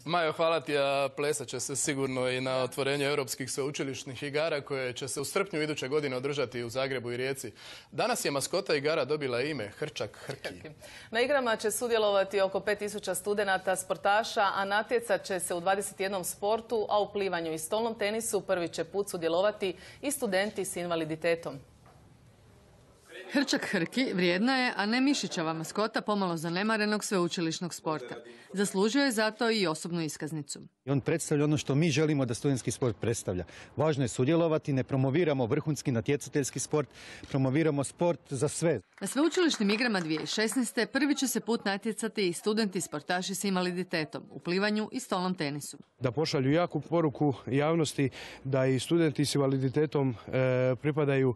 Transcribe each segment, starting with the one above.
Majo, hvala ti, a plesat će se sigurno i na otvorenju europskih sveučilišnih igara koje će se u srpnju iduće godine održati u Zagrebu i Rijeci. Danas je maskota igara dobila ime Hrčak Hrki. Na igrama će sudjelovati oko 5000 studenata, sportaša, a natjecat će se u 21 sportu, a u plivanju i stolnom tenisu prvi će put sudjelovati i studenti s invaliditetom. Hrčak Hrki vrijedna je, a ne mišićava maskota pomalo zanemarenog sveučilišnog sporta. Zaslužio je zato i osobnu iskaznicu. On predstavlja ono što mi želimo da studentski sport predstavlja. Važno je sudjelovati, ne promoviramo vrhunski natjecateljski sport, promoviramo sport za sve. Na sveučilišnim igrama 2016. prvi će se put natjecati i studenti sportaši s invaliditetom u plivanju i stolnom tenisu. Da pošalju jaku poruku javnosti da i studenti s invaliditetom pripadaju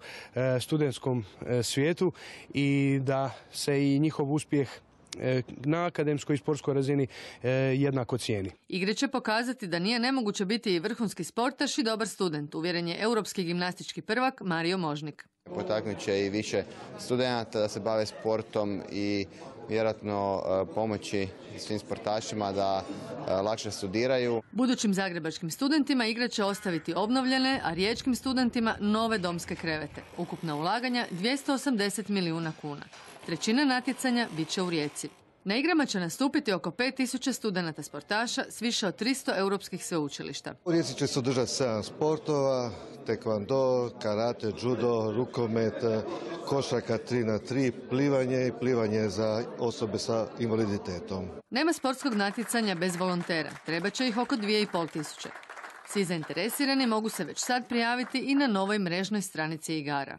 studentskom svijetu i da se i njihov uspjeh na akademskoj i sportskoj razini jednako cijeni. Igre će pokazati da nije nemoguće biti i vrhunski sportaš i dobar student, uvjeren je europski gimnastički prvak Mario Možnik. Potaknut će i više studenata da se bave sportom i vjerojatno pomoći svim sportašima da lakše studiraju. Budućim zagrebačkim studentima igra će ostaviti obnovljene, a riječkim studentima nove domske krevete. Ukupna ulaganja 280 milijuna kuna. Trećina natjecanja bit će u Rijeci. Na igrama će nastupiti oko 5000 studenata sportaša s više od 300 europskih sveučilišta. U Rijeci će se održati 7 sportova, tekvando, karate, judo, rukomet, košarka 3x3, plivanje i plivanje za osobe sa invaliditetom. Nema sportskog natjecanja bez volontera, treba će ih oko 2500. Svi zainteresirani mogu se već sad prijaviti i na novoj mrežnoj stranici igara.